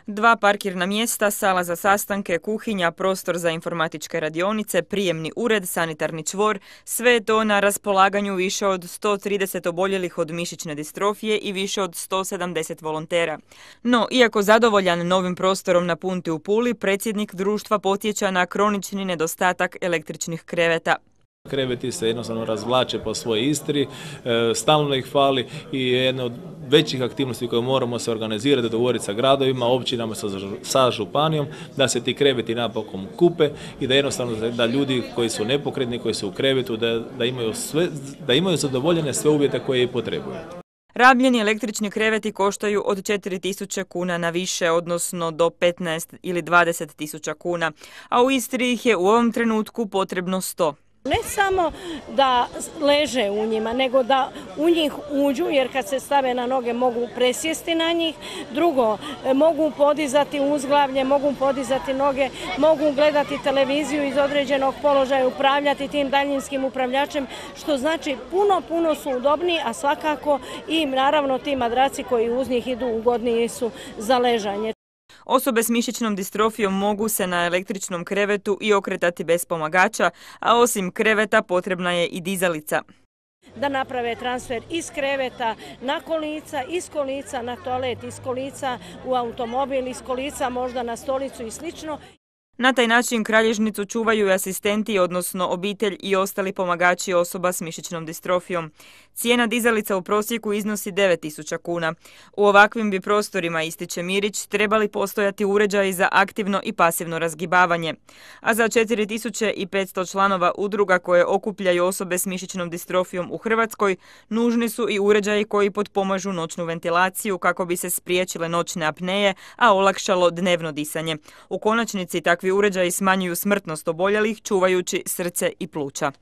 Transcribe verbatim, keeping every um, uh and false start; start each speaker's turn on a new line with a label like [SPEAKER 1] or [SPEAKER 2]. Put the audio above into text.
[SPEAKER 1] Dva parkirna mjesta, sala za sastanke, kuhinja, prostor za informatičke radionice, prijemni ured, sanitarni čvor, sve je to na raspolaganju više od sto trideset oboljelih od mišićne distrofije i više od sto sedamdeset volontera. No, iako zadovoljan novim prostorom na Punti u Puli, predsjednik društva podsjeća na kronični nedostatak električnih kreveta.
[SPEAKER 2] Kreveti se jednostavno razvlače po svojoj Istri, stalno ih fali i jedna od većih aktivnosti koje moramo se organizirati, dogovoriti sa gradovima, općinama, sa, sa županijom, da se ti kreveti napokon kupe i da jednostavno da ljudi koji su nepokretni, koji su u krevetu, da, da, imaju, sve, da imaju zadovoljene sve uvjete koje i potrebuju.
[SPEAKER 1] Rabljeni električni kreveti koštaju od četiri tisuće kuna na više, odnosno do petnaest ili dvadeset tisuća kuna, a u Istri ih je u ovom trenutku potrebno sto.
[SPEAKER 3] Ne samo da leže u njima, nego da u njih uđu, jer kad se stave na noge mogu presjesti na njih. Drugo, mogu podizati uzglavlje, mogu podizati noge, mogu gledati televiziju iz određenog položaja, upravljati tim daljinskim upravljačem, što znači puno, puno su udobniji, a svakako i naravno ti madraci koji uz njih idu ugodniji su za ležanje.
[SPEAKER 1] Osobe s mišićnom distrofijom mogu se na električnom krevetu i okretati bez pomagača, a osim kreveta potrebna je i dizalica.
[SPEAKER 3] Da naprave transfer iz kreveta na kolica, iz kolica na toalet, iz kolica u automobil, iz kolica možda na stolicu i slično.
[SPEAKER 1] Na taj način kralježnicu čuvaju i asistenti, odnosno obitelj i ostali pomagači osoba s mišićnom distrofijom. Cijena dizalica u prosjeku iznosi devet tisuća kuna. U ovakvim bi prostorima, ističe Mirić, trebali postojati uređaji za aktivno i pasivno razgibavanje. A za četiri tisuće petsto članova udruga koje okupljaju osobe s mišićnom distrofijom u Hrvatskoj, nužni su i uređaji koji potpomažu noćnu ventilaciju kako bi se spriječile noćne apneje, a olakšalo dnevno disanje. U konačnici takvi uređaji smanjuju smrtnost oboljelih, čuvajući srce i pluća.